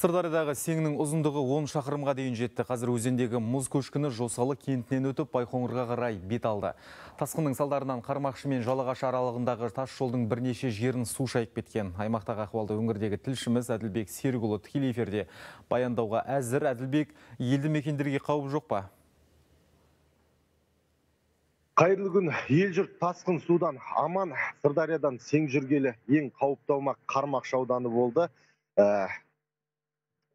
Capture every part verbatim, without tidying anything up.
Сырдариядағы Сеңнің ұзындығы он шақырымға дейін жетті. Қазір өзендегі мұз көшкіні Жосалы кентінен өтіп Байқоңырға қарай бет алды. Тасқынның салдарынан Қармақшы мен Жалағаш аралығындағы тас жолдың бірнеше жерін су шайып кеткен. Аймақтағы ахуалды өңірдегі тілшіміз Әділбек Серікұлы тікелей эфирде баяндауға әзір. Әділбек, елді мекендерге қауіп жоқ па? Қайырлы күн. Ел жұрт тасқын судан аман. Сырдариядан Сең жүргелі ең қауіпті аумақ Қармақшы ауданы болды.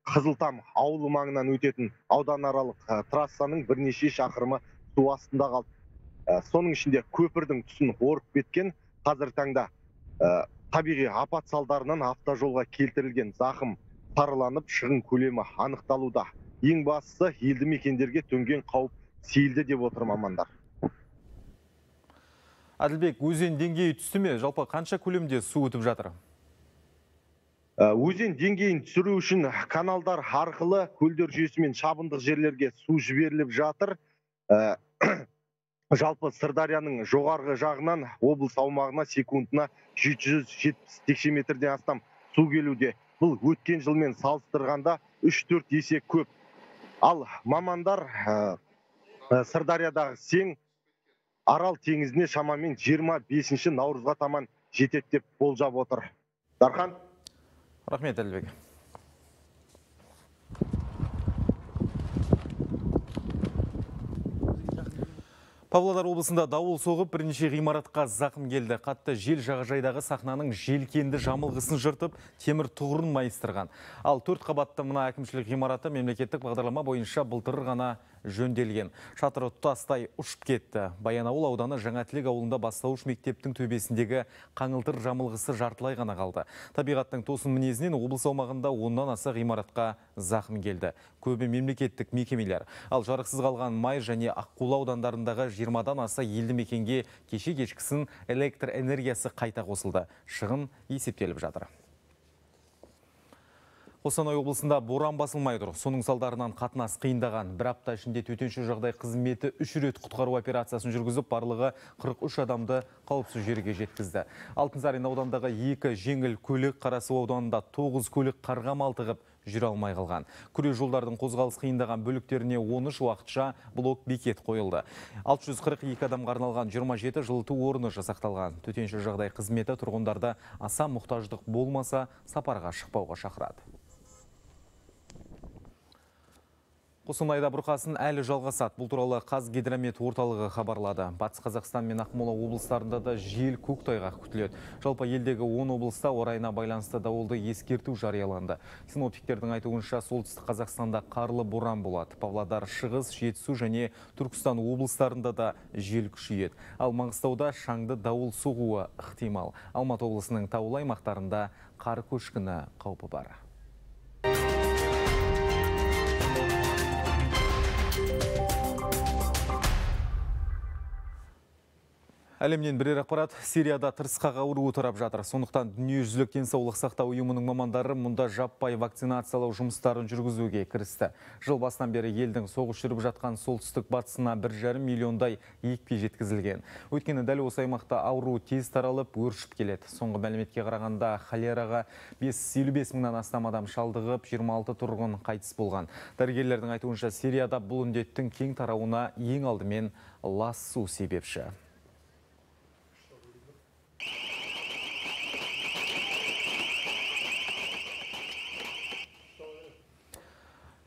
Қызылтам ауылы маңынан өтетін ауданаралық трассаның бірнеше шақырымы су астында қалды. Соның ішінде көпірдің тұсын орып кеткен. Қазір таңда табиғи апат салдарынан автожолға келтірілген зақым сараланып, шығын көлемі анықталуда. Ең бастысы, елді мекендерге төнген қауіп сейілді деп отыр мамандар. Әділбек, өзен деңгейі түсті ме? Жалпы қанша көлемде су өтіп жатыр? Өзен деңгейін түсіру үшін каналдар арқылы көлдер жүйесімен шабындық жерлерге су жіберіліп жатыр. Жалпы Сырдарияның жоғарғы жағынан облыс аумағына секундына жеті жүз жетпіс текше метрден астам су келуде. Бұл өткен жылмен салыстырғанда үш төрт есе көп. Ал мамандар Сырдариядағы Сең Арал теңізіне шамамен жиырма бесінші наурызға таман жетеді деп болжап отыр. Дархан? Рахмет, Әділбек. Павлодар облысында дауыл соғып, бірнеше ғимаратқа зақым келді. Қатты жел жағажайдағы сахнаның желкенді жамылғысын жыртып, темір тұғырын майыстырған. Ал төрт қабатты мына әкімшілік ғимараты мемлекеттік бағдарлама бойынша былтыр ғана жөнделген. Шатыры тұтастай ұшып кетті. Баянауыл ауданы Жаңатілек ауылында бастауыш мектептің төбесіндегі қаңылтыр жамылғысы жартылай ғана қалды. Табиғаттың тосын мінезінен облыс аумағында оннан аса ғимаратқа зақым келді. Көбі мемлекеттік мекемелер. Ал жарықсыз қалған Май және Аққулы аудандарындағы жиырмадан аса елді мекенге кеше кешкісін электр энергиясы қайта қосылды. Шығын есептеліп жатыр. Қостанай облысында боран басылмай тұр. Соның салдарынан қатынас қиындаған. Бір апта ішінде төтенше жағдай қызметі үш рет құтқару операциясын жүргізіп, барлығы қырық үш адамды қауіпсіз жерге жеткізді. Алтынсарин аудандағы екі жеңіл көлік, Қарасу ауданында тоғыз көлік қарға малтығып жүре алмай қалған. Күре жолдардың қозғалыс қиындаған бөліктеріне он үш уақытша блок бекет қойылды. алты жүз қырық екі адамға арналған жиырма жеті жылыту орны жасақталған. Төтенше жағдай қызметі тұрғындарды аса мұқтаждық болмаса сапарға шықпауға шақырады. Қостанайда бұрқасын әлі жалғасады. Бұл туралы Қазгидромет орталығы хабарлады. Батыс Қазақстан мен Ақмола облыстарында да жел көктайғақ күтіледі. Жалпы елдегі он облыста орайына байланысты дауылды ескерту жарияланды. Синоптиктердің айтуынша солтүстік Қазақстанда қарлы боран болады. Павлодар, Шығыс, Жетісу және Түркістан облыстарында да жел күшейеді. Ал Маңғыстауда шаңды дауыл соғуы ықтимал. Алматы облысының таулы аймақтарында қар көшкіні қаупі бар. Әлемнен бірер ақпарат. Сирияда тырысқақ ауруы тарап жатыр. Сондықтан дүниежүзілік денсаулық сақтау ұйымының мамандары мұнда жаппай вакцинациялау жұмыстарын жүргізуге кірісті. Жыл басынан бері елдің соғыс жүріп жатқан солтүстік батысына бір жарым миллиондай екпе жеткізілген. Өйткені дәл осы аймақта ауру тез таралып, өршіп келеді. Соңғы мәліметке қарағанда холераға бес жүз елу бес мыңнан астам адам шалдығып, жиырма алты тұрғын қайтыс болған. Дәрігерлердің айтуынша Сирияда бұл індеттің кең тарауына ең алдымен лас су себепші.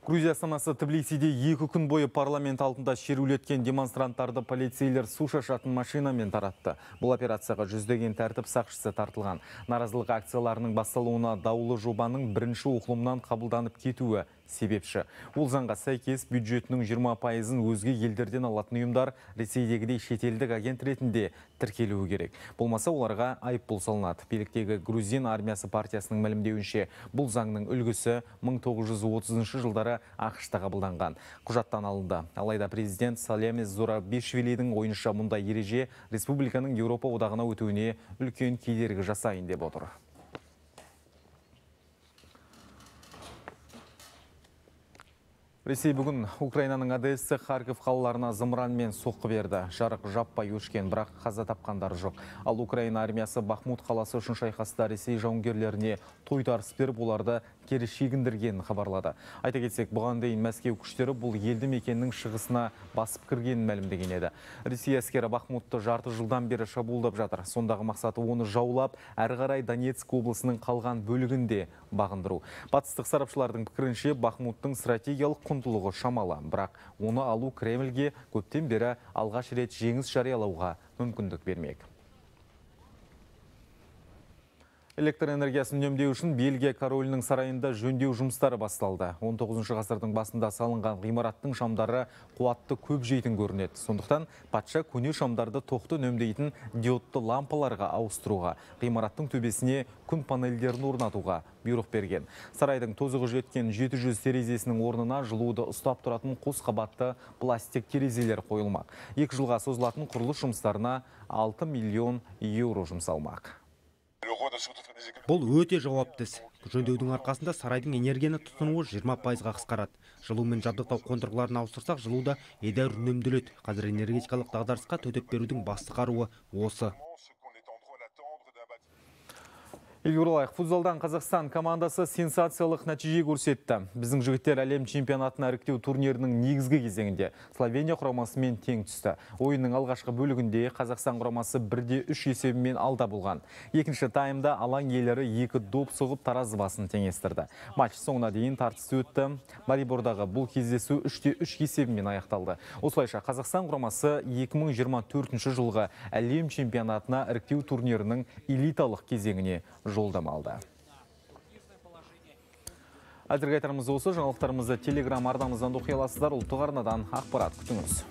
Грузия астанасы Тбилисиде екі күн бойы парламент алдында шерулеткен демонстранттарды полицейлер су шашатын машинамен таратты. Бұл операцияға жүздеген тәртіп сақшысы тартылған. Наразылық акцияларының басталуына даулы жобаның бірінші оқылымнан қабылданып кетуі себепші. Ол заңға сәйкес бюджетінің жиырма пайызын өзге елдерден алатын ұйымдар Ресейдегідей шетелдік агент ретінде тіркелуі керек. Болмаса оларға айыппұл салынады. Биліктегі Грузин армиясы партиясының мәлімдеуінше, бұл заңның үлгісі мың тоғыз жүз отызыншы жылдары ақш-та қабылданған. Құжаттан алынды. Алайда президент Салемис Зурабишвилидің ойынша мұндай ереже республиканың Еуропа одағына өтуіне үлкен кедергі жасайын деп отыр. Ресей бүгін Украинаның Одесса, Харьков қалаларына зымыранмен соққы берді. Жарық жаппай өшкен, бірақ қаза тапқандар жоқ. Ал Украина армиясы Бахмут қаласы үшін шайқаста Ресей жауынгерлеріне тойтарыс беріп, оларды кері шегіндіргенін хабарлады. Айта кетсек, бұған дейін Мәскеу күштері бұл елді мекеннің шығысына басып кіргенін мәлімдеген еді. Ресей әскері Бахмутты жарты жылдан бері шабуылдап жатыр. Сондағы мақсаты оны жаулап, әрі қарай Донецк облысының қалған бөлігінде бағындыру. Батыстық сарапшылардың пікірінше, Бахмуттың стратегиялық құндылығы шамалы, бірақ оны алу Кремльге көптен бері алғаш рет жеңіс жариялауға мүмкіндік бермек. Электр энергиясын үнемдеу үшін Бельгия королінің сарайында жөндеу жұмыстары басталды. он тоғызыншы ғасырдың басында салынған ғимараттың шамдары қуатты көп жейтін көрінеді. Сондықтан патша көне шамдарды тоқты үнемдейтін диодты лампаларға ауыстыруға, ғимараттың төбесіне күн панельдерін орнатуға бұйрық берген. Сарайдың тозығы жеткен жеті жүз терезесінің орнына жылуды ұстап тұратын қос қабатты пластик терезелер қойылмақ. Екі жылға созылатын құрылыс жұмыстарына алты миллион еуро жұмсалмақ. Бұл өте жауапты іс. Жөндеудің арқасында сарайдың энергияны тұтынуы жиырма пайызға қысқарады. Жылумен жабдықтау қондырғыларын ауыстырсақ, жылуда едәуір үнемделеді. Қазір энергетикалық дағдарысқа төтеп берудің басты қаруы осы. Елоралайық, футзалдан Қазақстан командасы сенсациялық нәтиже көрсетті. Біздің жігіттер әлем чемпионатына іріктеу турнирінің негізгі кезеңінде Словения құрамасымен тең түсті. Ойынның алғашқы бөлігінде Қазақстан құрамасы бірде үш есебімен алда болған. Екінші таймда алаң иелері екі доп соғып таразы басын теңестірді. Матч соңына дейін тартысты өтті. Марибордағы бұл кездесу үште үш есебімен аяқталды. Осылайша Қазақстан құрамасы екі мың жиырма төртінші жылғы әлем чемпионатына іріктеу турнирінің элиталық кезеңіне жолдама алды. Әзірге айтарымыз осы. Жаңалықтарымызды телеграм арнамыздан оқи аласыздар. Ұлттық арнадан ақпарат күтіңіз.